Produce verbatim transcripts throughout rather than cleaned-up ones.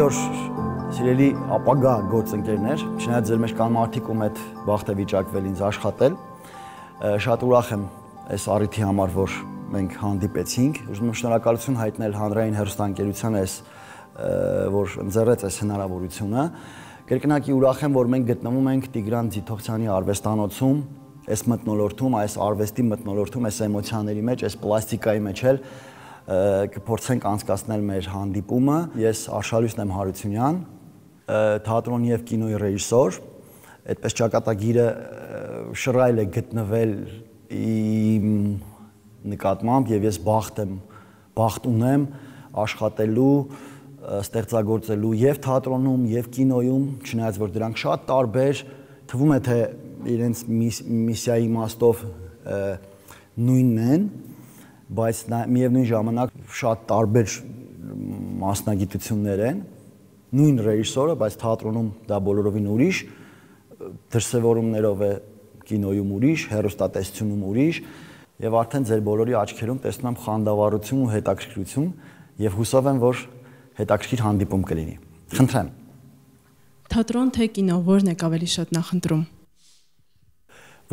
օր սիրելի ապագա գործընկերներ, չնայած ձեր մեջ կան մարդիկ, ում հետ վաղ թե վիճակվել ինձ աշխատել, շատ ուրախ եմ այս առիթի համար, որ մենք հանդիպեցինք, ուզում եմ շնորհակալություն հայտնել հանրային հեռուստաընկերությանը, այս որ ընձեռեց այս հնարավորությունը։ Կրկնակի ուրախ եմ, որ մենք գտնվում ենք Տիգրան Ձիթողցյանի արվեստանոցում, այս մթնոլորտում, այս արվեստի մթնոլորտում, այս էմոցիաների մեջ, այս պլաստիկայի մեջ էլ կփորձենք անցկացնել մեր հանդիպումը։ Ես Արշալույս եմ Հարությունյան, թատրոնի եւ կինոյի ռեժիսոր, այդպես ճակատագիրը շռայլ է գտնվել իմ նկատմամբ եւ ես բախտ եմ, բախտ ունեմ աշխատելու, ստեղծագործելու եւ թատրոնում եւ կինոյում, չնայած որ դրանք շատ տարբեր, թվում է թե իրենց միսիայի իմաստով նույնն են, բայց միևնույն ժամանակ շատ տարբեր մասնագիտություններ են, նույն ռեժիսորը, բայց թատրոնում դա բոլորովին ուրիշ, դրսևորումներով է կինոյում ուրիշ, հեռուստատեսությունում ուրիշ, եւ արդեն ձեր բոլորի աչքերում տեսնում եմ խանդավառություն ու հետաքրքրություն եւ հուսով եմ, որ հետաքրքիր հանդիպում կլինի։ Խնդրեմ։ Թատրոն թե կինո, որն եք ավելի շատ նախընտրում։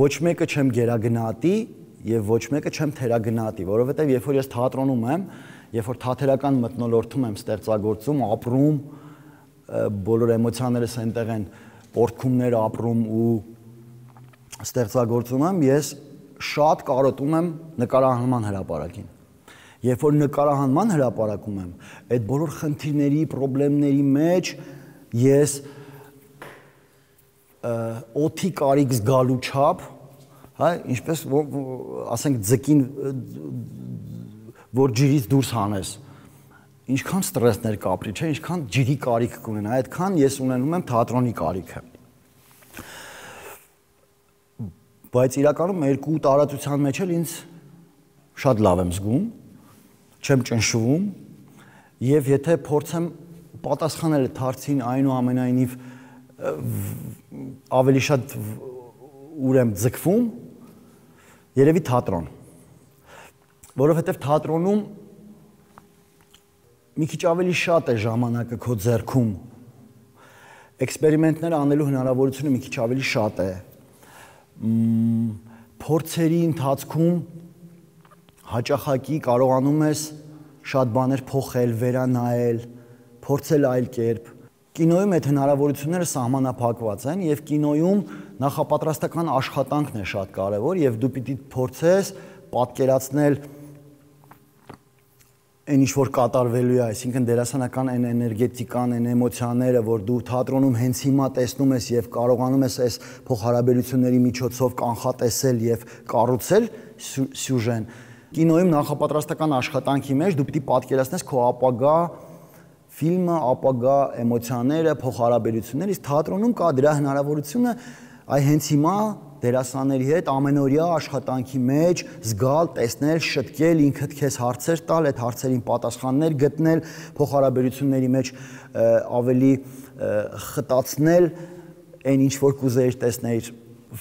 Ոչ մեկը չեմ գերագնահատի եւ ոչ մեկը չեմ թերագնահատի, որովհետեւ երբ որ ես թատրոնում եմ, երբ որ թատերական մթնոլորտում եմ ստեղծագործում, ապրում, բոլոր էմոցիաներս այնտեղ են, պորտքումներ ապրում ու ստեղծագործում եմ, ես շատ կարոտում եմ նկարահանման հրապարակին։ Երբ որ նկարահանման հրապարակում եմ, այդ բոլոր խնդիրների, խնդիրների մեջ ես օդի կարիք զգալու չափ, հա, ինչպես ասենք ձկին, որ ջրից դուրս հանես, ինչքան ստրեսներ կապրի, չէ, ինչքան ջրի կարիք կունենա, այդքան ես ունենում եմ թատրոնի կարիքը։ Բայց իրականում երկու տարածության մեջ էլ ինձ շատ լավ եմ զգում, չեմ ճնշվում եւ եթե փորձեմ պատասխանել այդ հարցին այնուամենայնիվ ավելի շատ ուր եմ ձգվում, երևի թատրոն, որովհետեւ թատրոնում մի քիչ ավելի շատ է ժամանակը քո ձեռքում, էքսպերիմենտներ անելու հնարավորությունը մի քիչ ավելի շատ է, փորձերի ընթացքում հաճախակի կարողանում ես շատ բաներ փոխել, վերանայել, փորձել այլ կերպ։ Կինոյում այդ հնարավորությունները սահմանափակված են եւ կինոյում նախապատրաստական աշխատանքն է շատ կարեւոր եւ դու պիտի փորձես պատկերացնել այն ինչ որ կատարվելու է, այսինքն դերասանական այն էներգետիկան, այն էմոցիաները, որ դու թատրոնում հենց հիմա տեսնում ես եւ կարողանում ես այս փոխհարաբերությունների միջոցով կանխատեսել եւ կառուցել սյուժեն։ Կինոյում նախապատրաստական աշխատանքի մեջ դու պիտի պատկերացնես քո ապագա ֆիլմը, ապագա էմոցիաները, փոխհարաբերությունները, իսկ թատրոնում կա դրա հնարավորությունը այ հենց հիմա դերասանների հետ ամենօրյա աշխատանքի մեջ զգալ, տեսնել, շտկել, ինքդ քեզ հարցեր տալ, այդ հարցերին պատասխաններ գտնել, փոխհարաբերությունների մեջ ավելի խտացնել այն ինչ որ կուզեիր տեսնել։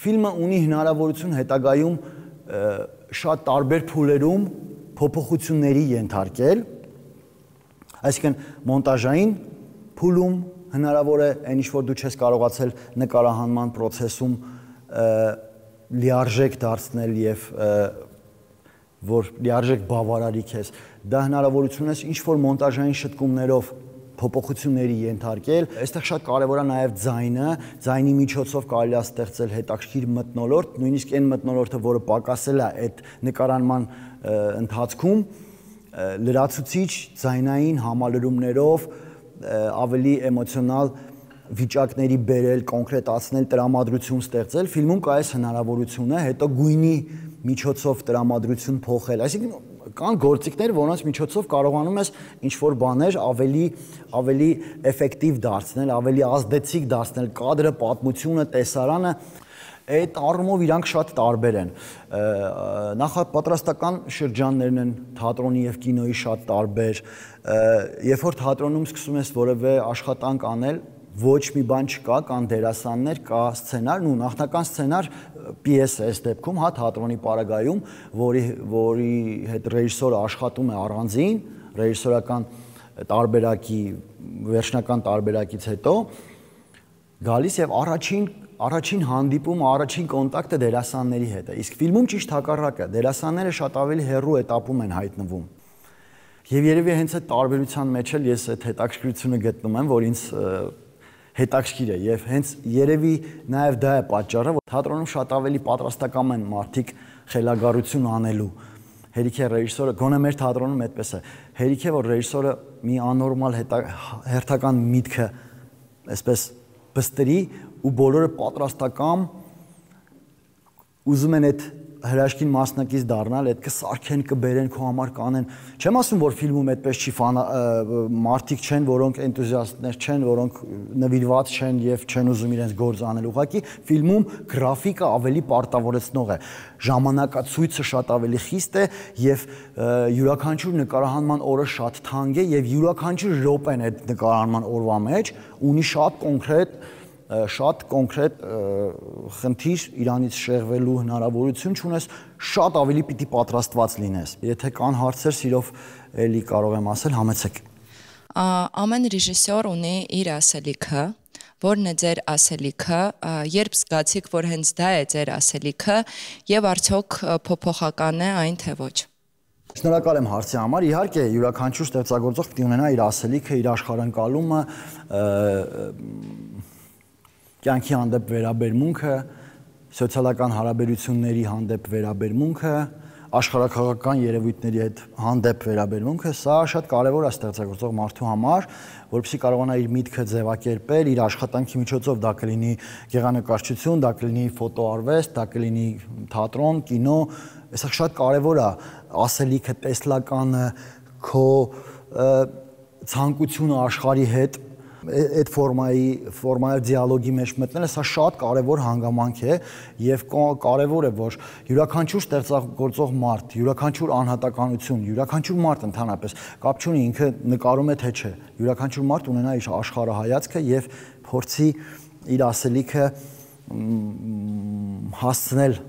Ֆիլմը ունի հնարավորություն հետագայում շատ տարբեր փուլերում փոփոխությունների ենթարկել, այսինքն մոնտաժային փուլում հնարավոր է այն ինչ որ դու չես կարողացել նկարահանման process-ում լիարժեք դարձնել եւ որ լիարժեք բավարարի քեզ, դա հնարավորություն է ինչ որ մոնտաժային շտկումներով փոփոխությունների ենթարկել։ Այստեղ շատ կարևոր է նաեւ ձայնը, ձայնի միջոցով կարելի է ստեղծել հետաքրքիր մթնոլորտ, նույնիսկ այն մթնոլորտը, որը պակասել է այդ նկարանման ընթացքում, լրացուցիչ ձայնային համալրումներով ավելի էմոցիոնալ վիճակների բերել, կոնկրետացնել, տրամադրություն ստեղծել, ֆիլմում կա այս հնարավորությունը, հետո գույնի միջոցով տրամադրություն փոխել, այսինքն կան գործիքներ, որոնց միջոցով կարողանում ես ինչ-որ բաներ ավելի ավելի էֆեկտիվ դարձնել, ավելի ազդեցիկ դարձնել, կադրը, պատմությունը, տեսարանը, այդ առումով իրանք շատ տարբեր են։ Նախապատրաստական շրջաններն են թատրոնի եւ կինոյի շատ տարբեր, երբ որ թատրոնում սկսում ես որևէ աշխատանք անել, ոչ մի բան չկա, կան դերասաններ, կա սցենար, ու նախնական սցենար պիես է այս դեպքում, հա, թատրոնի պարագայում, որի որի հետ ռեժիսորը աշխատում է առանձին, ռեժիսորական տարբերակի վերջնական տարբերակից հետո գալիս եւ առաջին առաջին հանդիպումը, առաջին կոնտակտը դերասանների հետ է։ Իսկ ֆիլմում ճիշտ հակառակը, դերասանները շատ ավելի հեռու էտապում են հայտնվում։ Եվ երևի հենց այդ տարբերության մեջ էլ ես այդ հետաքրքրությունը գտնում եմ, որ ինձ հետաքրքիր է եւ հենց երևի նաեւ դա է պատճառը, որ թատրոնում շատ ավելի պատրաստական են մարդիկ խելագարություն անելու։ Հերիք է ռեժիսորը, գոնե մեր թատրոնում այդպես է։ Հերիք է, որ ռեժիսորը մի աննորմալ հերթական միտքը այսպես բստրի ու բոլորը պատրաստական ուզում են այդ հրաշքին մասնակից դառնալ, այդ կսարքեն, կբերեն, քո համար կանեն։ Չեմ ասում, որ ֆիլմում այդպես չի, մարդիկ չեն, որոնք էնտուզիաստներ չեն, որոնք նվիրված չեն եւ չեն ուզում իրենց գործ անել։ Ուղղակի ֆիլմում գրաֆիկը ավելի պարտավորեցնող է, ժամանակացույցը շատ ավելի խիստ է եւ յուրաքանչյուր նկարահանման օրը շատ թանկ է եւ յուրաքանչյուր րոպեն այդ նկարահանման օրվա մեջ ունի շատ կոնկրետ շատ կոնկրետ խնդիր իրանից շեղվելու հնարավորություն չունես, շատ ավելի պիտի պատրաստված լինես։ Եթե կան հարցեր, սիրով էլի կարող եմ ասել, համեցեք։ Ամեն ռեժիսոր ունի իր ասելիքը, որն է ձեր ասելիքը, երբ զգացիք, որ հենց դա է ձեր ասելիքը եւ արդյոք փոփոխական է այն թե ոչ։ Շնորհակալ եմ հարցի համար։ Իհարկե, յուրաքանչյուր ստեղծագործող պիտի ունենա իր ասելիքը, իր աշխարհընկալումը, կյանքի հանդեպ վերաբերմունքը, սոցիալական հարաբերությունների հանդեպ վերաբերմունքը, աշխարհաքաղաքական երևույթների հետ հանդեպ վերաբերմունքը, սա շատ կարևոր է ստեղծագործող մարդու համար, որպեսզի կարողանա իր միտքը ձևակերպել, իր աշխատանքի միջոցով դա կլինի գեղանկարչություն, դա կլինի ֆոտոարվեստ, դա կլինի թատրոն, կինո, սա շատ կարևոր է ասելիքը, տեսլականը, քո ցանկությունը աշխարհի հետ այդ ֆորմայի ֆորմայով դիալոգի մեջ մտնելը սա շատ կարևոր հանգամանք է եւ կարևոր է որ յուրաքանչյուր ստեղծագործող մարդ, յուրաքանչյուր անհատականություն, յուրաքանչյուր մարդ ընդհանրապես կապ չունի ինքը նկարում է թե չէ, յուրաքանչյուր մարդ ունենա իր աշխարհայացքը եւ փորձի իր ասելիքը հասցնել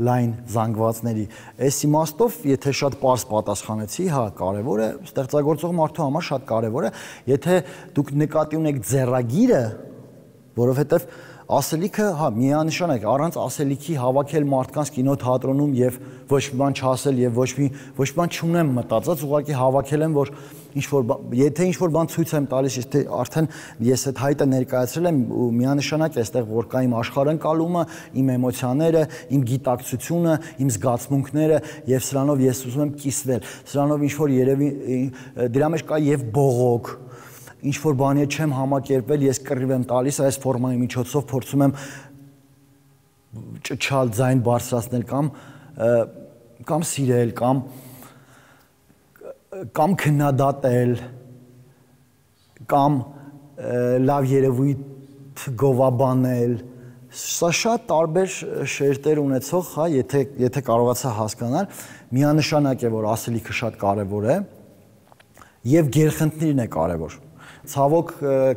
լայն զանգվածների։ Այս իմաստով, եթե շատ պարզ պատասխանեցի, հա, կարևոր է, ստեղծագործող մարդու համար շատ կարևոր է, եթե դուք նկատի ունեք ձեռագիրը, որովհետև ասելիքը, հա, միանշանակ, առանց ասելիքի հավաքել մարդկանց կինոթատրոնում եւ ոչ մի բան չասել եւ ոչ մի ոչ մի բան չունեմ մտածած, ուղղակի հավաքել եմ, որ ինչ որ եթե ինչ որ բան ցույց եմ տալիս, եթե արդեն ես այդ հայտը ներկայացրել եմ ու միանշանակ է այստեղ որ կա իմ աշխարհընկալումը, իմ էմոցիաները, իմ գիտակցությունը, իմ զգացմունքները եւ սրանով ես ուզում եմ կիսվել։ Սրանով ինչ որ երևի դրա մեջ կա եւ բողոք ինչ որ բանի չեմ համակերպել, ես կռիվ եմ տալիս այս ֆորմայի միջոցով փորձում եմ ճչալ ձայն բարձրացնել կամ կամ սիրել կամ կամ քննադատել կամ լավ երևույթ գովաբանել սա շատ տարբեր շերտեր ունեցող, հա, եթե եթե կարողացա հասկանալ, միանշանակ է որ ասելիքը շատ կարևոր է եւ գերխնդիրն է կարևոր։ Ցավոք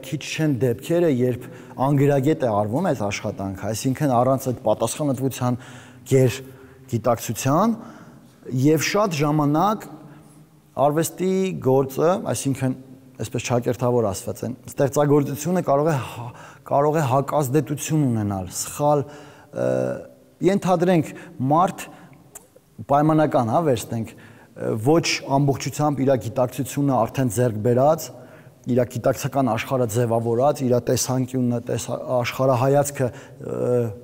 քիչ չեն դեպքերը, երբ անգրագետ է արվում այս աշխատանքը, այսինքն առանց այդ պատասխանատվության գեր գիտակցության եւ շատ ժամանակ արվեստի գործը, այսինքն այսպես ճակերտավոր ասված են, ստեղծագործությունը կարող է կարող է հակազդեցություն ունենալ, սխալ ենթադրենք մարդ պայմանական, հա, վերցնենք, ոչ ամբողջությամբ իր գիտակցությունը արդեն ձեռք բերած, իր գիտակցական աշխարհը ձևավորած, իր տեսանկյունը, տես աշխարհայացքը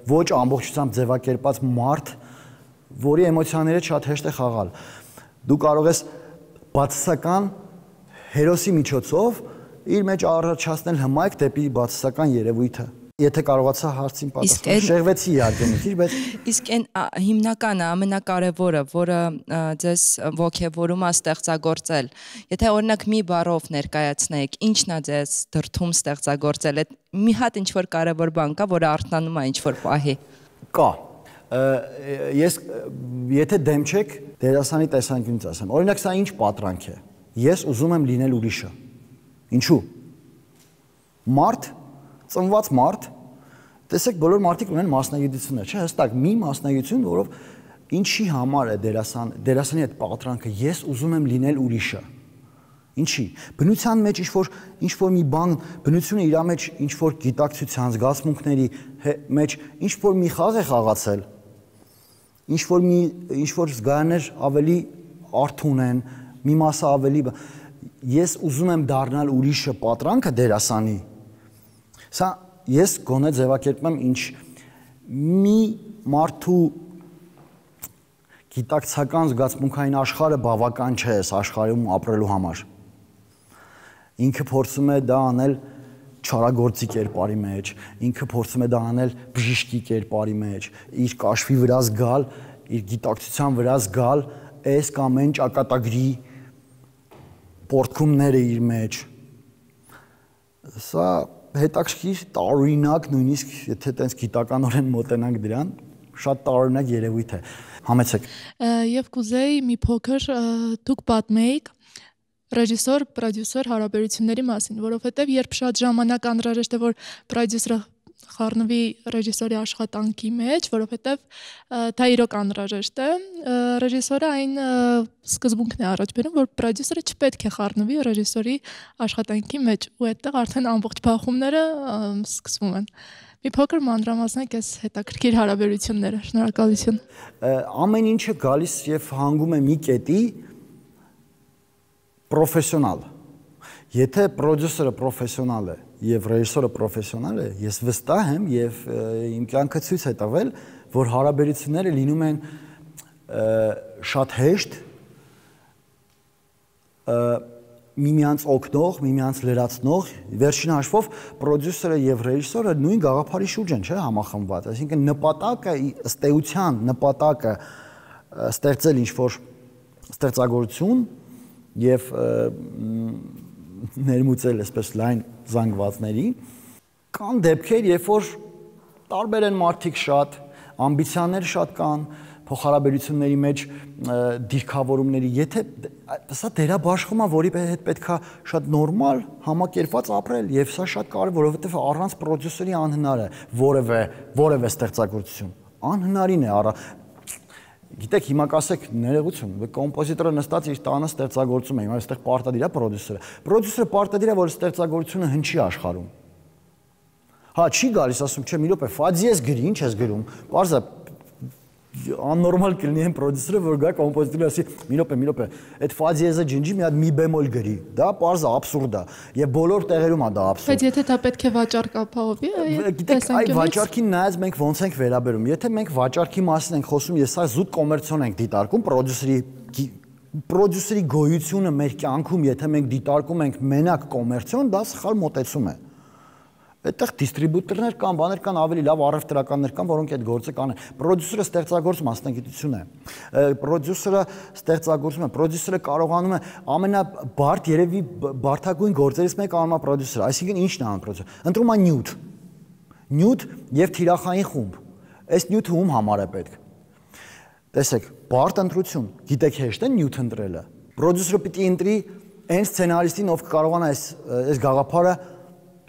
ոչ ամբողջությամբ ձևակերպած մարդ, որի էմոցիաները շատ հեշտ է խաղալ։ Դու կարող ես բացասական հերոսի միջոցով իր մեջ առաջացնել հմայք դեպի բացասական երևույթը։ Եթե կարողացա հարցին պատասխանել, շեղվեցի իհարկե մի քիչ, բայց իսկ այն հիմնականը, ամենակարևորը, որը ձեզ ոգևորում է ստեղծագործել, եթե օրինակ մի բառով ներկայացնեք, ի՞նչն է ձեզ դրդում ստեղծագործել, այդ մի հատ ինչ որ կարևոր բան կա, որը արթնանում է ինչ որ պահի։ Կա։ Ես եթե դեմ չեք, դերասանի տեսանկյունից ասեմ։ Օրինակ սա ինչ պատրանք է։ Ես ուզում եմ լինել ուրիշը։ Ինչու՞։ Մարդ ծնված մարդ, տեսեք բոլոր մարդիկ ունեն մասնագիտություններ, չէ՞, հստակ մի մասնագիտություն, որով ինչի համար է դերասան, դերասանի այդ պատրանքը, ես ուզում եմ լինել ուրիշը։ Ինչի։ Բնության մեջ ինչ-որ ինչ-որ մի բան, բնությունը իր մեջ ինչ-որ գիտակցության, զգացմունքների մեջ ինչ-որ մի խաղ է խաղացել, ինչ-որ մի ինչ-որ զգայաներ ավելի արթուն են, մի մասը ավելի ես ուզում եմ դառնալ ուրիշը պատրանքը դերասանի։ Սա ես գոնե ձևակերպում եմ ինչ մի մարդու գիտակցական զգացմունքային աշխարհը բավական չէ այս աշխարհում ապրելու համար։ Ինքը փորձում է դա անել չարագործի կերպարի մեջ, ինքը փորձում է դա անել բժիշկի կերպարի մեջ, իր կաշվի վրա զգալ, իր գիտակցության վրա զգալ այս կամ այն ճակատագրի պորտքումները իր մեջ։ Սա հետաքրքիր տարօրինակ, նույնիսկ եթե տենց գիտականորեն մոտենանք դրան, շատ տարօրինակ երևույթ է։ Համեցեք։ Եվ կուզեի մի փոքր դուք պատմեիք ռեժիսոր, պրոդյուսեր հարաբերությունների մասին, որովհետև երբ շատ ժամանակ անհրաժեշտ է, որ պրոդյուսերը խառնվի ռեժիսորի աշխատանքի մեջ, որովհետև դա իրոք անհրաժեշտ է, ռեժիսորը այն սկզբունքն է առաջ բերում, որ պրոդյուսերը չպետք է խառնվի ռեժիսորի աշխատանքի մեջ, ու այդտեղ արդեն ամբողջ բախումները սկսվում են։ Մի փոքր մանրամասնեք այս հետաքրքիր հարաբերությունները, շնորհակալություն։ Ամեն ինչը գալիս եւ հանգում է մի կետի պրոֆեսիոնալ։ Եթե պրոդյուսերը պրոֆեսիոնալ է եւ ռեժիսորը պրոֆեսիոնալ է, ես վստահ եմ եւ իմ կյանքը ցույց է տվել, որ հարաբերությունները լինում են շատ հեշտ, միմյանց օգնող, միմյանց լրացնող, վերջին հաշվով պրոդյուսերը եւ ռեժիսորը նույն գաղափարի շուրջ են, չէ՞, համախմբված, այսինքն նպատակը ըստ էության նպատակը ստեղծել ինչ-որ ստեղծագործություն եւ ներմուծել այսպես լայն զանգվածների, կան դեպքեր, երբ որ տարբեր են մարդիկ շատ, ամբիցիաներ շատ կան, փոխհարաբերությունների մեջ դիրքավորումների, եթե սա դերաբաշխումա, որի հետ պետքա շատ նորմալ համակերպված ապրել, եւ սա շատ կարևոր, որովհետեւ առանց պրոդյուսերի անհնար է որևէ որևէ ստեղծագործություն, անհնարին է առ Գիտեք, հիմա կասեք ներողություն, կոմպոզիտորը նստած իր տանը ստեղծագործում է, հիմա այստեղ պարտադիր է պրոդյուսերը։ Պրոդյուսերը պարտադիր է, որ ստեղծագործությունը հնչի աշխարհում։ Հա, չի գալիս, ասում, չէ, մի րոպե, ֆազիես գրի, ինչ ես գրում։ Պարզ է, աննորմալ կլինի այն պրոդյուսերը, որ գա կոմպոզիտորը ասի, մի րոպե, մի րոպե, այդ ֆազիեսը ջնջի, մի հատ մի բեմոլ գրի։ Դա պարզ է, աբսուրդ է, եւ բոլոր տեղերում է դա աբսուրդ։ Բայց եթե դա պետք է վաճառք ապահովի, գիտեք, այ վաճառքին նայած մենք ոնց ենք վերաբերում։ Եթե մենք վաճառքի մասին ենք խոսում, ես սա զուտ կոմերցիոն ենք դիտարկում, պրոդյուսերի պրոդյուսերի գոյությունը մեր կյանքում, եթե մենք դիտարկում ենք մենակ կոմերցիոն, դա սխալ մոտեցում է։ Այդտեղ դիստրիբյուտորներ կան, բաներ կան, ավելի լավ առևտրականներ կան, որոնք այդ գործը կանեն։ Պրոդյուսերը ստեղծագործ մասնագիտություն է։ Պրոդյուսերը ստեղծագործում է, պրոդյուսերը կարողանում է ամենաբարդ երևի բարդագույն գործերից մեկը անում է պրոդյուսերը, այսինքն ի՞նչն է անում պրոդյուսերը։ Ընտրում է նյութ։ Նյութ եւ թիրախային խումբ։ Այս նյութը ում համար է պետք։ Տեսեք, բարդ ընտրություն, գիտեք հեշտ է նյութ ընտրելը։ Պրոդյուսերը պիտի ընտրի այն սցենարիստին, ով կարողանա այս այս գաղափարը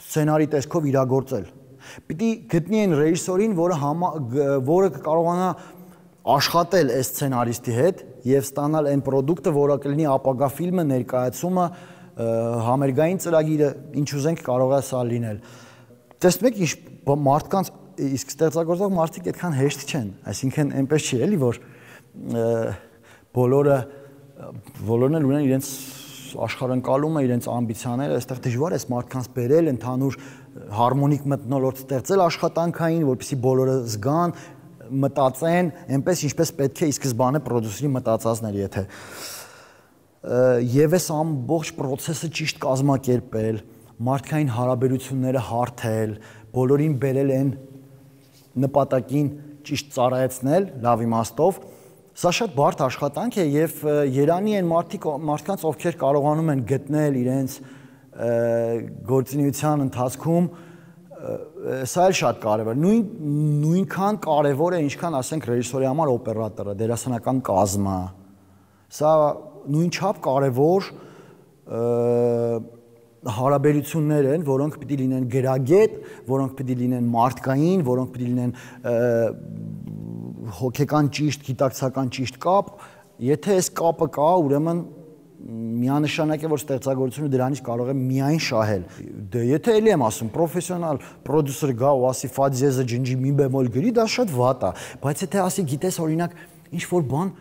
սցենարի տեսքով իրագործել։ Պիտի գտնի այն ռեժիսորին, որը որը կարողանա աշխատել այս սցենարիստի հետ եւ ստանալ այն պրոդուկտը, որը կլինի ապագա ֆիլմը, ներկայացումը, համերգային ծրագիրը, ինչ ուզենք կարող է սա լինել։ Տեսնում եք, ինչ մարդկանց իսկ ստեղծագործող մարդիկ այդքան հեշտ չեն, այսինքն այնպես չի էլի, որ բոլորը բոլորն էլ ունեն իրենց աշխարհընկալումը, իրենց ամբիցիաները, այստեղ դժվար է մարդկանց բերել, ընդհանուր հարմոնիկ մթնոլորտ ստեղծել աշխատանքային, որպեսզի բոլորը զգան, մտածեն, այնպես ինչպես պետք է ի սկզբանե պրոդյուսերի մտածածներ, եթե եւ այս ամբողջ process-ը ճիշտ կազմակերպել, մարդկային հարաբերությունները հարթել, բոլորին բերել են նպատակին ճիշտ ծառայեցնել, լավ իմաստով, սա շատ բարդ աշխատանք է եւ երանի են մարդիկ մարդկանց ովքեր կարողանում են գտնել իրենց գործունեության ընթացքում սա էլ շատ կարևոր նույն նույնքան կարևոր է ինչքան ասենք ռեժիսորի համար օպերատորը դերասանական կազմը սա նույնչափ կարևոր հարաբերություններ են, որոնք պիտի լինեն գրագետ, որոնք պիտի լինեն մարդկային, որոնք պիտի լինեն հոգեկան ճիշտ, գիտակցական ճիշտ կապ, եթե այս կապը կա, ուրեմն միանշանակ է, որ ստեղծագործությունը դրանից կարող է միայն շահել։ Դե եթե էլի եմ ասում, պրոֆեսիոնալ պրոդյուսեր գա ու ասի ֆաձիեզը ջնջի մի բեմոլ գրի, դա շատ վատ է, բայց եթե ասի գիտես օրինակ ինչ որ բան,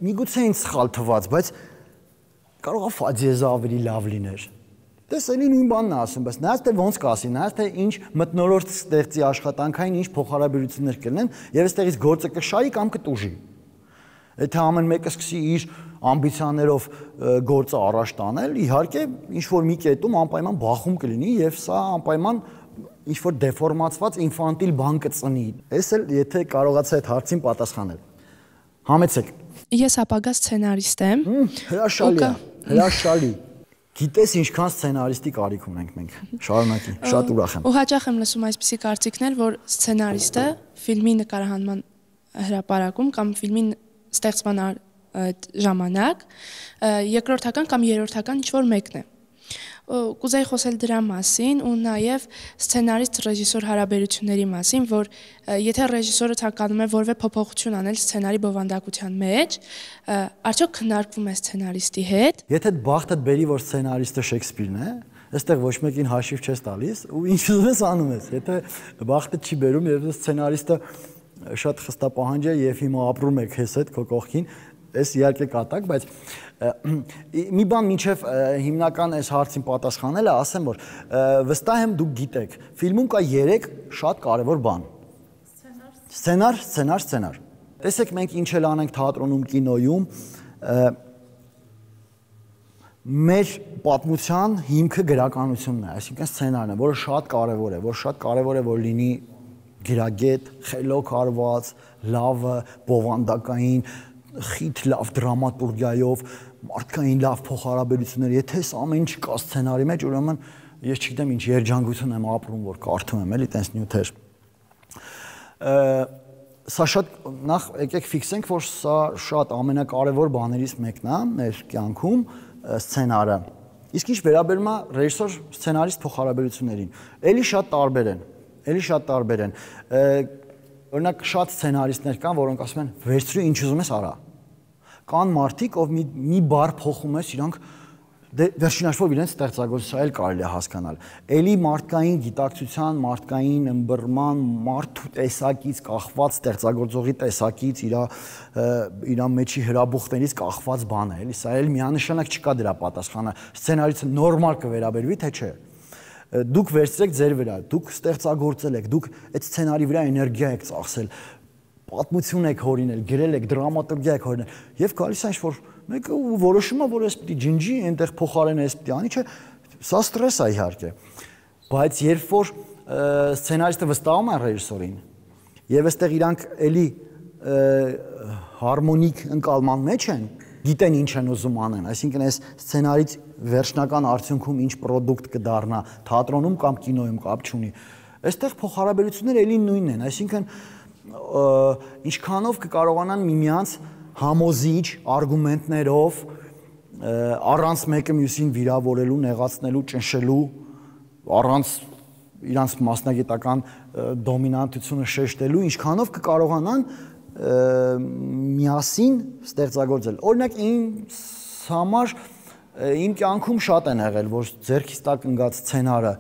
միգուցե ինձ սխալ թվաց, բայց կարող է ֆաձիեզը ավելի լավ լիներ։ Դες էլի նույն բանն է ասում, բայց նայած թե ոնց կասի, նայած թե ինչ մթնոլորտ ստեղծի աշխատանքային, ինչ փոխհարաբերություններ կլինեն, եւ այստեղից գործը կշահի կամ կտուժի։ Եթե ամեն մեկը սկսի իր ամբիցիաներով գործը առաջ տանել, իհարկե ինչ որ մի կետում անպայման բախում կլինի եւ սա անպայման ինչ որ դեֆորմացված ինֆանտիլ բան կծնի։ Էս էլ եթե կարողացա այդ հարցին պատասխանել։ Համեցեք։ Ես ապագա սցենարիստ եմ։ Հրաշալի է, հրաշալի։ Գիտես ինչքան սցենարիստի կարիք ունենք մենք։ Շարունակի, շատ ուրախ եմ։ Ու հաճախ եմ լսում այսպիսի կարծիքներ, որ սցենարիստը ֆիլմի նկարահանման հրապարակում կամ ֆիլմի ստեղծման ժամանակ երկրորդական կամ երրորդական ինչ-որ մեկն է։ Կուզեի խոսել դրա մասին ու նաև սցենարիստ ռեժիսոր հարաբերությունների մասին, որ եթե ռեժիսորը ցանկանում է որևէ փոփոխություն անել սցենարի բովանդակության մեջ, արդյոք քննարկվում է սցենարիստի հետ։ Եթե բախտդ բերի, որ սցենարիստը Շեքսպիրն է, այստեղ ոչ մեկին հաշիվ չես տալիս ու ինչ ուզում ես անում ես։ Եթե բախտը չի բերում եւ սցենարիստը շատ խստապահանջ է եւ հիմա ապրում է քեզ հետ քո կողքին, այս իհարկե կատակ, բայց մի բան մինչև հիմնական այս հարցին պատասխանելը ասեմ, որ վստահ եմ դուք գիտեք, ֆիլմում կա երեք շատ կարևոր բան։ Սցենար, սցենար, սցենար։ Տեսեք մենք ինչ էլ անենք թատրոնում, կինոյում, մեր պատմության հիմքը գրականությունն է, այսինքն սցենարն է, որը շատ կարևոր է, որ շատ կարևոր է որ լինի գրագետ, խելոք արված, լավը, բովանդակային, խիտ լավ դրամատուրգիայով, մարդկային լավ փոխհարաբերություններ, եթե այս ամեն ինչ կա սցենարի մեջ, ուրեմն ես չգիտեմ ինչ երջանկություն եմ ապրում, որ կարդում եմ, էլի տենց նյութեր։ Սա շատ նախ եկեք ֆիքսենք, որ սա շատ ամենակարևոր բաներից մեկն է մեր կյանքում սցենարը։ Իսկ ինչ վերաբերում է ռեժիսոր սցենարիստ փոխհարաբերություններին, էլի շատ տարբեր են, էլի շատ տարբեր են։ Օրինակ շատ սցենարիստներ կան, որոնք ասում են վերցրու ինչ ուզում ես արա։ Կան մարդիկ, ով մի մի բառ փոխում ես, իրանք վերջին հաշվով իրենց ստեղծագործությունը էլ կարելի է հասկանալ։ Էլի մարդկային գիտակցության, մարդկային ըմբռնման, մարդու տեսակից կախված ստեղծագործողի տեսակից իր իր մեջի հրաբուխներից կախված բան է, էլի սա էլ միանշանակ չկա դրա պատասխանը։ Սցենարիստը նորմալ կվերաբերվի, թե չէ։ Դուք վերցրեք ձեր վրա, դուք ստեղծագործել եք, դուք այդ սցենարի վրա էներգիա եք ծախսել, պատմություն եք հորինել, գրել եք, դրամատուրգիա եք հորինել, եւ գալիս է ինչ-որ մեկը ու որոշում է, որ էս պիտի ջնջի, այնտեղ փոխարենը էս պիտի անի, չէ, սա ստրես է իհարկե։ Բայց երբ որ սցենարիստը վստահում է ռեժիսորին, եւ այստեղ իրանք էլի հարմոնիկ ընկալման մեջ են, գիտեն ինչ են ուզում անեն, այսինքն այս սցենարից վերջնական արդյունքում ինչ պրոդուկտ կդառնա, թատրոնում կամ կինոյում կապ չունի։ Այստեղ փոխհարաբերությունները էլի նույնն են, այսինքն ինչքանով կկարողանան միմյանց համոզիչ արգումենտներով առանց մեկը մյուսին վիրավորելու, նեղացնելու, ճնշելու, առանց իրանց մասնագիտական դոմինանտությունը շեշտելու, ինչքանով կկարողանան միասին ստեղծագործել։ Օրինակ ինձ համար իմ կյանքում շատ են եղել, որ ձեռքից տակ ընկած սցենարը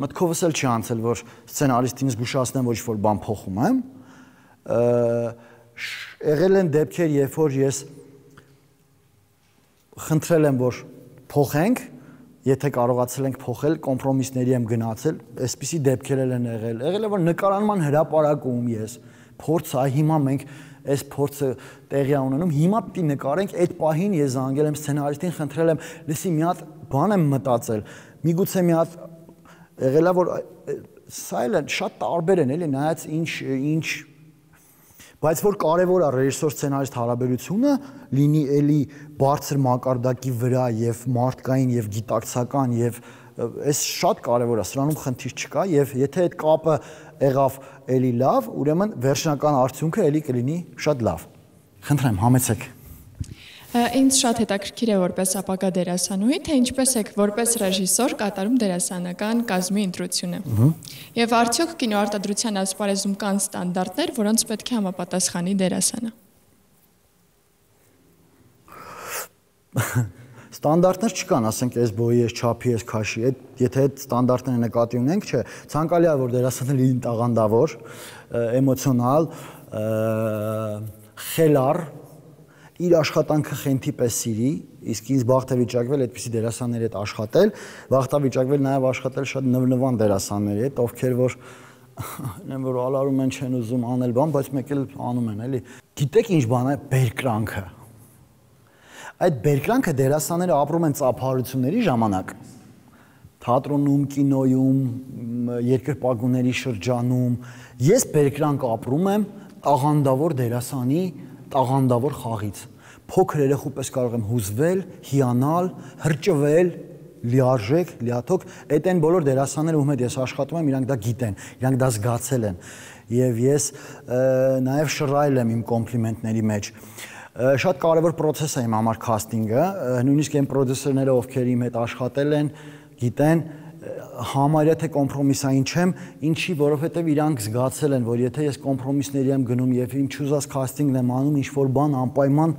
մտքովս էլ չի անցել, որ սցենարիստին զգուշացնեմ, որ ինչ-որ բան փոխում եմ։ Եղել են դեպքեր, երբ որ ես խնդրել եմ, որ փոխենք, եթե կարողացել ենք փոխել, կոմպրոմիսների եմ գնացել, այսպիսի դեպքեր են եղել։ Եղել է, որ նկարանման հրապարակում ես փորձ, այ հիմա մենք այս փորձը տեղի ունենում, հիմա պիտի նկարենք, այդ պահին ես զանգել եմ սցենարիստին, խնդրել եմ, լսի մի հատ բան եմ մտածել, միգուցե մի հատ եղել է, որ սա էլ շատ տարբեր են, էլի, նայած ինչ ինչ բայց որ կարևոր է ռեժիսոր սցենարիստ հարաբերությունը լինի էլի բարձր մակարդակի վրա եւ մարդկային եւ գիտակցական եւ այս շատ կարևոր է, սրանում խնդիր չկա եւ եթե այդ կապը եղավ էլի լավ, ուրեմն վերջնական արդյունքը էլի կլինի շատ լավ։ Խնդրեմ, համեցեք։ Ինձ շատ հետաքրքիր է որպես ապագա դերասանուհի, թե ինչպես եք որպես ռեժիսոր կատարում դերասանական կազմի ընտրությունը։ Եվ արդյոք կինոարտադրության ասպարեզում կան ստանդարտներ, որոնց պետք է համապատասխանի դերասանը։ Ստանդարտներ չկան, ասենք այս բոյի, այս չափի, այս քաշի, այդ եթե այդ ստանդարտները նկատի ունենք, չէ, ցանկալի է որ դերասանները լինեն տաղանդավոր, էմոցիոնալ, խելառ, իր աշխատանքը խենթի պես սիրի, իսկ ինձ բախտ է վիճակվել այդպիսի դերասանների հետ աշխատել, բախտ է վիճակվել նաև աշխատել շատ նվնվան դերասանների հետ, ովքեր որ նեմ որ ալարում են չեն ուզում անել բան, բայց մեկ էլ անում են, էլի։ Գիտեք ինչ բան է բերկրանքը։ Այդ բերկրանքը դերասանները ապրում են ծափահարությունների ժամանակ, թատրոնում, կինոյում, երկրպագուների շրջանում։ Ես բերկրանք ապրում եմ տաղանդավոր դերասանի տաղանդավոր խաղից։ Փոքր երեխու պես կարող եմ հուզվել, հիանալ, հրճվել, լիարժեք, լիաթոք, այդ այն բոլոր դերասանները, ում հետ ես աշխատում եմ, իրանք դա գիտեն, իրանք դա զգացել են։ Եվ ես նաև շռայլ եմ իմ կոմպլիմենտների մեջ։ Շատ կարևոր process է իմ համար casting-ը, նույնիսկ այն պրոդյուսերները, ովքեր իմ հետ աշխատել են, գիտեն, համարյա թե կոմպրոմիսային չեմ, ինչի, որովհետև իրանք զգացել են, որ եթե ես կոմպրոմիսների եմ գնում եւ իմ չուզած casting-ն եմ անում, ինչ որ բան անպայման,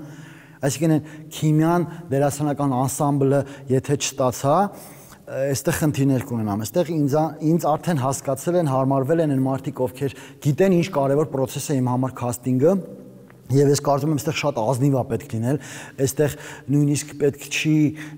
այսինքն քիմիան, դերասանական անսամբլը, եթե չստացա, այստեղ խնդիրներ կունենամ։ Այստեղ ինձ ինձ արդեն հասկացել են, հարմարվել են այն մարդիկ, ովքեր գիտեն ինչ կարևոր process է իմ համար casting-ը։ Եվ ես կարծում եմ, այստեղ շատ ազնիվ է պետք լինել, այստեղ նույնիսկ պետք չի,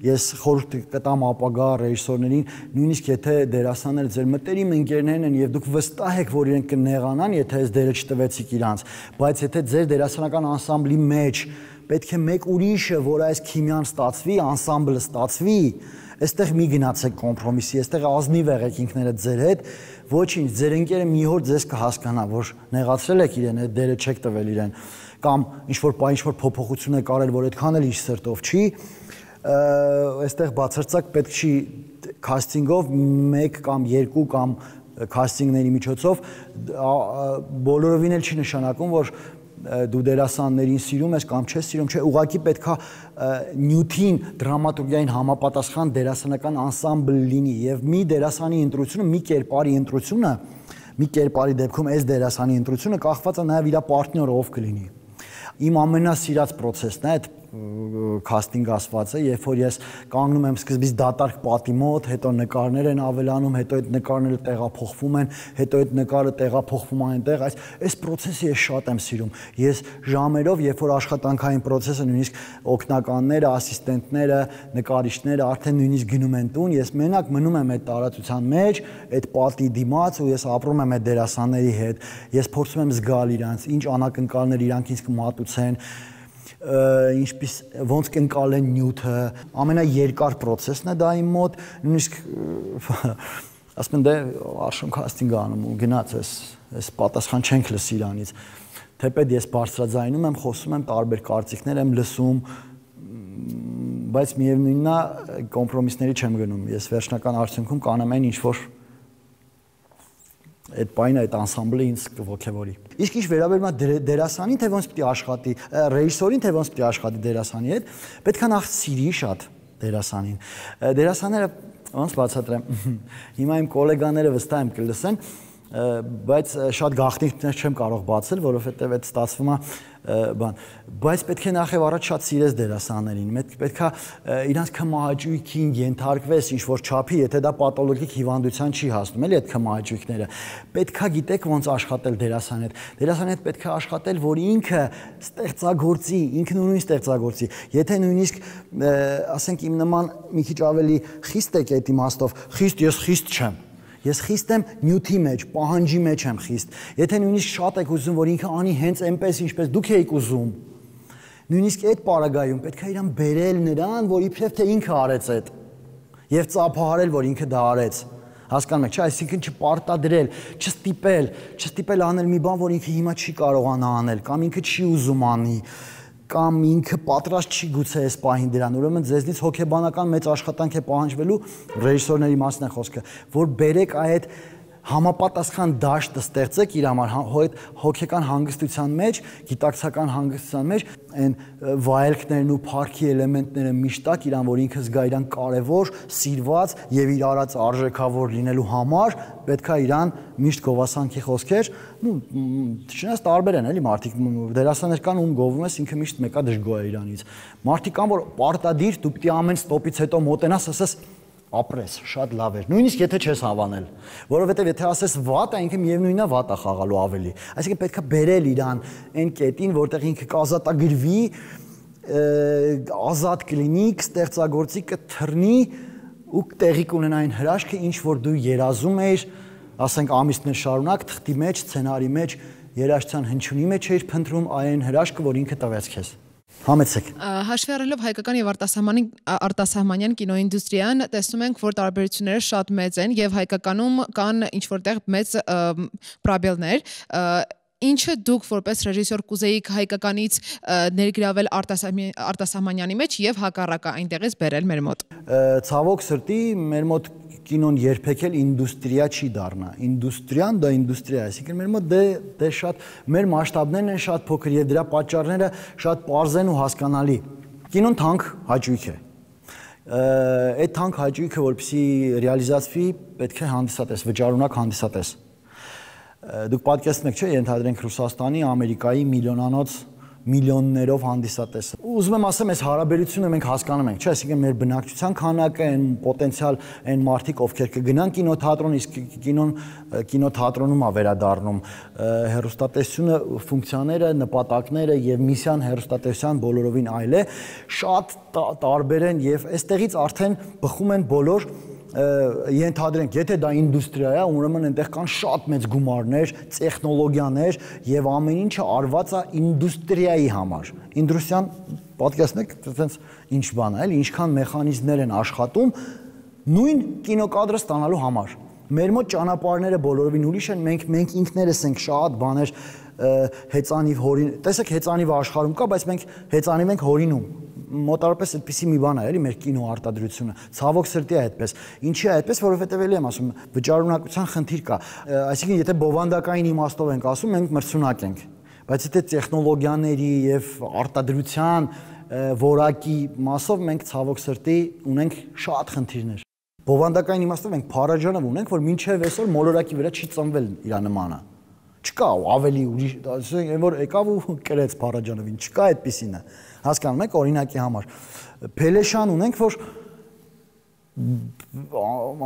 ես խորհուրդ կտամ ապագա ռեժիսորներին, նույնիսկ եթե դերասանները ձեր մտերիմ ընկերներն են եւ դուք վստահ եք, որ իրենք կնեղանան, եթե այս դերը չտվեցիք իրանց, բայց եթե ձեր դերասանական անսամբլի մեջ պետք է մեկ ուրիշը, որ այս քիմիան ստացվի, անսամբլը ստացվի, այստեղ մի գնացեք կոմպրոմիսի, այստեղ ազնիվ եղեք ինքներդ ձեր հետ, ոչինչ, ձեր ընկերը մի օր ձեզ կհասկանա, որ նեղացրել եք իրեն, այդ դերը չեք տվել իրեն, կամ ինչ-որ պահ ինչ-որ փոփոխություն է կարել, որ այդքան էլ իր սրտով չի, այստեղ բացարձակ պետք չի քաստինգով մեկ կամ երկու կամ քաստինգների միջոցով բոլորովին էլ չի նշանակում, որ դու դերասաններին սիրում ես կամ չես սիրում, չէ, ուղղակի պետքա նյութին, դրամատուրգիային համապատասխան դերասանական անսամբլ լինի եւ մի դերասանի ընտրությունը, մի կերպարի ընտրությունը, մի կերպարի դեպքում այս դերասանի ընտրությունը կախված է նաեւ իր պարտներով ով կլինի։ Իմ ամենասիրած process-ն է այդ casting ասվածը, երբ որ ես կանգնում եմ սկզբից դատարկ պատի մոտ, հետո նկարներ են ավելանում, հետո այդ նկարները տեղափոխվում են, հետո այդ նկարը տեղափոխվում է այնտեղ, այս այս process-ը ես շատ եմ սիրում։ Ես ժամերով, երբ որ աշխատանքային process-ը նույնիսկ օգնականները, ասիստենտները, նկարիչները արդեն նույնիսկ գնում են տուն, ես մենակ մնում եմ այդ տարածության մեջ, այդ պատի դիմաց ու ես ապրում եմ այդ դերասանների հետ։ Ես փորձում եմ զգալ իրանց, ինչ անակնկալներ իրանք ինձ կմատուցեն, ինչպես ոնց կընկալեն նյութը, ամենաերկար process-ն է դա իմ մոտ, նույնիսկ ասում են դե արշում casting անում ու գնաց էս էս պատասխան չենք լսի իրանից, թեպետ ես բարձրաձայնում եմ, խոսում եմ, տարբեր կարծիքներ եմ լսում, բայց միևնույնն է կոմպրոմիսների չեմ գնում, ես վերջնական արդյունքում կանեմ այն ինչ որ այդ պայնը այդ անսամբլը ինձ կողքեվորի։ Իսկ ինչ վերաբերում է դերասանին, թե ոնց պիտի աշխատի, ռեժիսորին, թե ոնց պիտի աշխատի դերասանի հետ, պետք է նախ սիրի շատ դերասանին։ Դերասանները ոնց բացատրեմ, հիմա իմ գոլեգաները վստահ եմ կլսեն, բայց շատ գաղտնիքներ չեմ կարող բացել, որովհետև այդ ստացվում է բան, բայց պետք է նախ եւ առաջ շատ սիրես դերասաններին, պետք է իրանց քմահաճույքին ենթարկվես ինչ որ չափի, եթե դա պաթոլոգիկ հիվանդության չի հասնում, էլի այդ քմահաճույքները, պետք է գիտեք ոնց աշխատել դերասանի հետ, դերասանի հետ պետք է աշխատել, որ ինքը ստեղծագործի, ինքնուրույն ստեղծագործի, եթե նույնիսկ ասենք իմ նման մի քիչ ավելի խիստ եք այդ իմաստով, խիստ ես խիստ չեմ Ես խիստ եմ նյութի մեջ, պահանջի մեջ եմ խիստ։ Եթե նույնիսկ շատ եք ուզում, որ ինքը անի հենց այնպես, ինչպես դուք եք ուզում, նույնիսկ այդ պարագայում պետք է իրան բերել նրան, որ իբրև թե ինքը արեց այդ, եւ ծափահարել, որ ինքը դա արեց։ Հասկանում եք, չէ՞, այսինքն չպարտադրել, չստիպել, չստիպել անել մի բան, որ ինքը հիմա չի կարողանա անել, կամ ինքը չի ուզում անի, կամ ինքը պատրաստ չի գուցե այս պահին դրան, ուրեմն ձեզնից հոգեբանական մեծ աշխատանք է պահանջվելու ռեժիսորների մասն է խոսքը, որ բերեք այդ համապատասխան դաշտը ստեղծեք իր համար հոգեկան հանգստության մեջ, գիտակցական հանգստության մեջ, այն վայելքներն ու փառքի էլեմենտները միշտ տակ իրան, որ ինքը զգա իրան կարևոր, սիրված եւ իր արած արժեքավոր լինելու համար, պետք է իրան միշտ գովասանքի խոսքեր, ու չնայած տարբեր են, էլի մարդիկ դերասաններ կան, ում գովում ես, ինքը միշտ մեկա դժգոհ է իրանից։ Մարդիկ կան, որ պարտադիր դու պիտի ամեն ստոպից հետո մոտենաս, ասես ապրես, շատ լավ էր։ Նույնիսկ եթե չես հավանել, որովհետև եթե ասես վատ, ինքը միևնույնն է վատ է խաղալու ավելի։ Այսինքն պետք է բերել իրան այն կետին, որտեղ ինքը կազատագրվի, ազատ կլինի, կստեղծագործի, կթռնի ու տեղի կունենա այն հրաշքը, ինչ որ դու երազում ես, ասենք ամիսներ շարունակ թղթի մեջ, սցենարի մեջ, երաժշտության հնչյունի մեջ էիր փնտրում այն հրաշքը, որ ինքը տվեց քեզ։ Համեցեք։ Հաշվի առնելով հայկական եւ արտասահմանյան կինոինդուստրիան, տեսնում ենք, որ տարբերությունները շատ մեծ են եւ հայկականում կան ինչ որտեղ մեծ պրոբլեմներ։ Ինչը դուք որպես ռեժիսոր կուզեիք հայկականից ներգրավել արտասահմանյանի մեջ եւ հակառակը այնտեղից բերել մեր մոտ։ Ցավոք սրտի մեր մոտ կինոն երբեք էլ ինդուստրիա չի դառնա։ Ինդուստրիան դա ինդուստրիա է, այսինքն մեր մոտ դե դե շատ մեր մասշտաբներն են շատ փոքր եւ դրա պատճառները շատ պարզ են ու հասկանալի։ Կինոն թանկ հաճույք է։ Այդ թանկ հաճույքը, որպեսզի ռեալիզացվի, պետք է հանդիսատես, վճարունակ հանդիսատես։ Դուք պատկերացնում եք, չէ՞, ենթադրենք Ռուսաստանի, Ամերիկայի միլիոնանոց միլիոններով հանդիսատես։ Ուզում եմ ասեմ, այս հարաբերությունը մենք հասկանում ենք, չէ՞, այսինքն մեր բնակչության քանակը, այն պոտենցիալ այն մարդիկ, ովքեր կգնան կինոթատրոն, իսկ կինոն կինոթատրոնում է վերադառնում, հեռուստատեսությունը, ֆունկցիաները, նպատակները եւ միսիան հեռուստատեսության բոլորովին այլ է, շատ տարբեր են եւ այստեղից արդեն բխում են բոլոր ենթադրենք, եթե դա ինդուստրիա է, ուրեմն այնտեղ կան շատ մեծ գումարներ, տեխնոլոգիաներ եւ ամեն ինչը արված է ինդուստրիայի համար։ Ինդուստրիան, պատկերացնեք, այտենց ինչ բան է, էլի, ինչքան մեխանիզմներ են աշխատում նույն կինոկադրը ստանալու համար։ Մեր մոտ ճանապարհները բոլորովին ուրիշ են, մենք մենք ինքներս ենք շատ բաներ հեծանիվ հորին, տեսեք հեծանիվը աշխարհում կա, բայց մենք հեծանիվ ենք հորինում։ Մոտարապես այդպիսի մի բան է, էլի մեր կինո արտադրությունը։ Ցավոք սրտի է այդպես։ Ինչի է այդպես, որովհետև էլի եմ ասում, վճարունակության խնդիր կա։ Այսինքն, եթե բովանդակային իմաստով ենք ասում, մենք մրցունակ ենք։ Բայց եթե տեխնոլոգիաների եւ արտադրության որակի մասով մենք ցավոք սրտի ունենք շատ խնդիրներ։ Բովանդակային իմաստով մենք փարաջանով ունենք, որ մինչև այսօր մոլորակի վրա չի ծնվել իր նմանը։ Չկա ավելի ուրիշ, ասենք, այն որ եկավ ու կրեց Փարաջանովին, չկա այդպիսին է։ Հասկանում եք, օրինակի համար։ Փելեշան ունենք, որ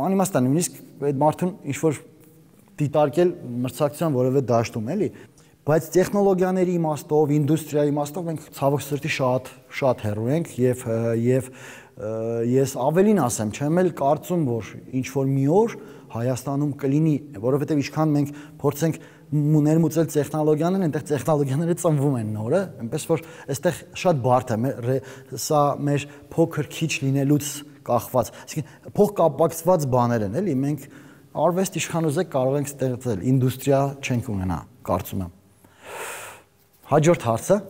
անիմաստ է, նույնիսկ այդ մարդուն ինչ որ դիտարկել մրցակցության որևէ դաշտում, էլի, բայց տեխնոլոգիաների իմաստով, ինդուստրիայի իմաստով մենք ցավոք սրտի շատ շատ հեռու ենք եւ եւ ես ավելին ասեմ, չեմ էլ կարծում, որ ինչ որ մի օր Հայաստանում կլինի, որովհետև ինչքան մենք փորձենք ներմուծել տեխնոլոգիաներն, այնտեղ տեխնոլոգիաները ծնվում են նորը, այնպես որ այստեղ շատ բարդ է, սա մեր փոքր քիչ լինելուց կախված, այսինքն փոխկապակցված բաներ են, էլի, մենք արվեստ իշխան ուզեք կարող ենք ստեղծել, ինդուստրիա չենք ունենա, կարծում եմ։ Հաջորդ հարցը։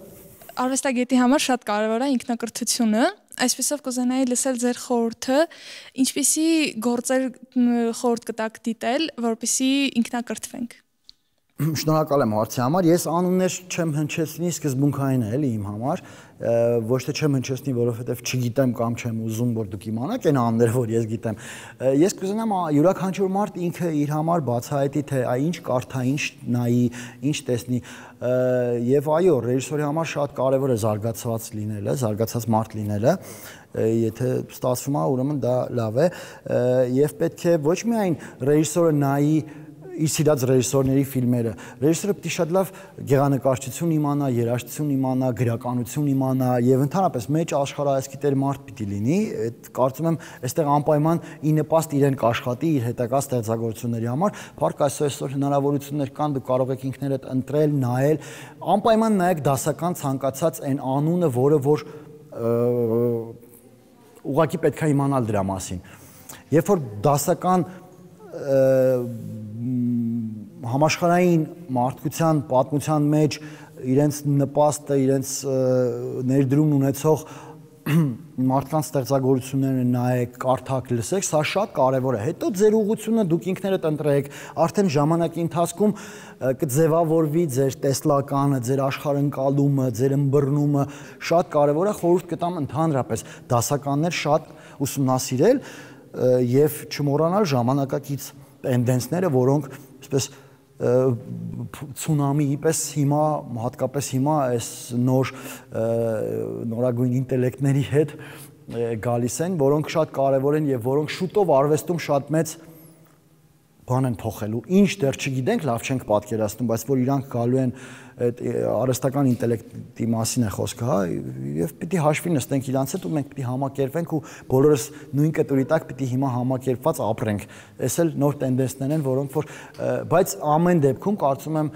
Արվեստագետի համար շատ կարևոր է ինքնակրթությունը, այսպեսով կուզենայի լսել ձեր խորհուրդը, ինչպիսի գործեր խորհուրդ կտաք դիտել, որպեսզի ինքնակրթվենք։ Շնորհակալ եմ հարցի համար, ես անուններ չեմ հնչեցնի, սկզբունքային է էլի իմ համար, ոչ թե չեմ հնչեցնի, որովհետև չգիտեմ կամ չեմ ուզում, որ դուք իմանաք այն անունները, որ ես գիտեմ։ Ես կուզենամ յուրաքանչյուր մարդ ինքը իր համար բացահայտի, թե այ ինչ կարդա, ինչ նայի, ինչ տեսնի, եւ այո, ռեժիսորի համար շատ կարեւոր է զարգացված լինելը, զարգացած մարդ լինելը, եթե ստացվում է, ուրեմն դա լավ է, եւ պետք է ոչ միայն ռեժիսորը նայի իր սիրած ռեժիսորների ֆիլմերը, ռեժիսորը պետք է շատ լավ գեղանկարչություն իմանա, երաժշտություն իմանա, գրականություն իմանա եւ ընդհանրապես մեջ աշխարհայացքի մարդ պիտի լինի, այդ կարծում եմ այստեղ անպայման ի նպաստ իրեն կաշխատի իր հետագա ստեղծագործությունների համար, փառք Աստծո այսօր հնարավորություններ կան, դուք կարող եք ինքներդ ընտրել, նայել, անպայման նայեք դասական ցանկացած այն անունը, որը որ ուղղակի պետք է իմանալ դրա մասին։ Երբ որ դասական համաշխարհային մարդկության պատմության մեջ իրենց նպաստը, իրենց ներդրումն ունեցող մարդկանց ստեղծագործությունները նայեք, կարդաք, լսեք, սա շատ կարևոր է։ Հետո ձեր ուղղությունը դուք ինքներդ ընտրեք, արդեն ժամանակի ընթացքում կձևավորվի ձեր տեսլականը, ձեր աշխարհընկալումը, ձեր ըմբռնումը, շատ կարևոր է, խորհուրդ կտամ ընդհանրապես դասականներ շատ ուսումնասիրել եւ չմոռանալ ժամանակակից տենդենսները, որոնք այսպես ցունամիի պես հիմա հատկապես հիմա այս նոր նորագույն ինտելեկտների հետ գալիս են, որոնք շատ կարևոր են եւ որոնք շուտով արվեստում շատ մեծ բան են փոխելու։ Ինչ դեռ չգիտենք, լավ չենք պատկերացնում, բայց որ իրանք գալու են այդ արհեստական ինտելեկտի մասին է խոսքը, հա, եւ պիտի հաշվի նստենք իրանց հետ ու մենք պիտի համակերպենք ու բոլորս նույն կտուրի տակ պիտի հիմա համակերպված ապրենք։ Այս էլ նոր տենդենսներ են, որոնք որ բայց ամեն դեպքում կարծում եմ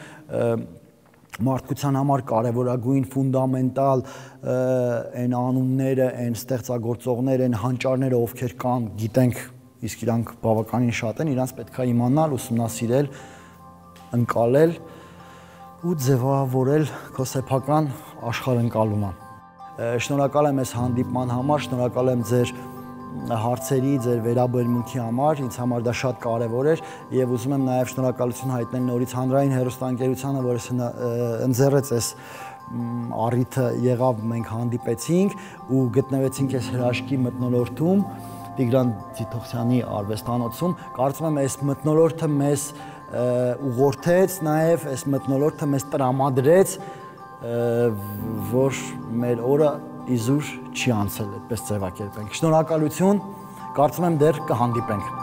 մարդկության համար կարևորագույն ֆունդամենտալ այն անունները, այն ստեղծագործողները, այն հանճարները, ովքեր կան, գիտենք, իսկ իրանք բավականին շատ են, իրանք պետք է իմանալ, ուսումնասիրել, ընկալել ու ձևավորել քո սեփական աշխարհընկալումը։ Շնորհակալ եմ այս հանդիպման համար, շնորհակալ եմ ձեր հարցերի, ձեր վերաբերմունքի համար, ինձ համար դա շատ կարևոր էր եւ ուզում եմ նաեւ շնորհակալություն հայտնել նորից հանրային հեռուստաընկերությանը, որը ընձեռեց այս առիթը եղավ, մենք հանդիպեցինք ու գտնվեցինք այս հրաշքի մթնոլորտում Տիգրան Ձիթողցյանի արվեստանոցում։ Կարծում եմ այս մթնոլորտը մեզ ուղղորդեց, նաև այս մթնոլորտը մեզ տրամադրեց, որ մեր օրը իզուր չի անցել, այդպես ձևակերպենք։ Շնորհակալություն, կարծում եմ դեռ կհանդիպենք։